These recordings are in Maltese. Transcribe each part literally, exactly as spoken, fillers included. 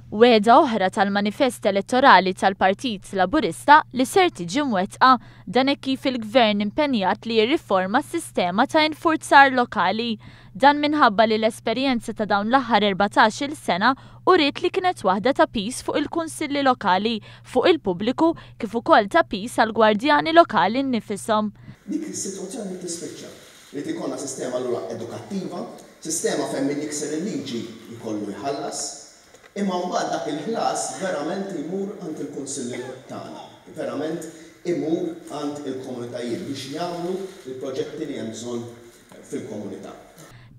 Wegħda oħra tal-manifest elettorali tal-Partit Laburista li ser tiġi mwettqa, dan hekk kif il-Gvern impenjat li jirriforma s-sistema ta' infurzar lokali. Dan minħabba li l-esperjenza ta' dawn l-aħħar erbatax-il sena uriet li kienet waħda ta' piż fuq il-kunsilli lokali, fuq il-pubbliku, kif ukoll ta' piż għall-gwardjani lokali nnifishom. Dik is-sitwazzjoni tispiċċa. Li ikollna sistema allura edukattiva, sistema fejn min jikser il-liġi jkollu jħallas, imma mbagħad dak il-ħlas verament imur għand il-kunsilli tagħna, verament imur għand il-komunitajiet biex jagħmlu il-proġetti li hemm bżonn fil-komunità.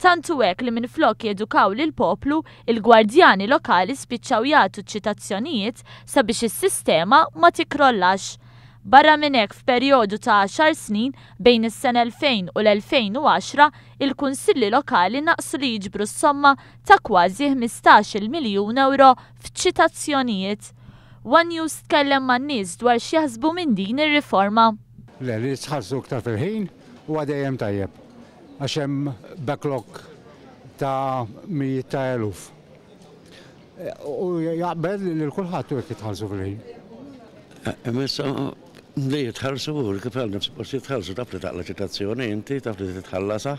Tant hu hekk li minflok jedukaw lill-poplu, il-gwardjani lokali spiċċaw jagħtu ċitazzjonijiet sabiex is-sistema ma tikkrollax. Barra minn hekk, f'perjodu ta' għaxar snin bejn is-sena elfejn u l-elfejn u għaxra, il-kunsilli lokali naqsu li jiġbru s-somma ta' kważi ħmistax-il miljun euro f'ċitazzjonijiet. One News tkellem man-nies dwar x'jaħsbu minn din ir-riforma. Le, li jitħallsu iktar fil-ħin huwa dejjem tajjeb, għax hemm backlog ta' mijiet ta' eluf. U jaqbel li kulħadd jekk jitħallsu fil-ħin. Imma li jitħallsu, kif għal nifs post jitħallsu, taf li taqla ċitazzjoni inti, taf li titħallasa.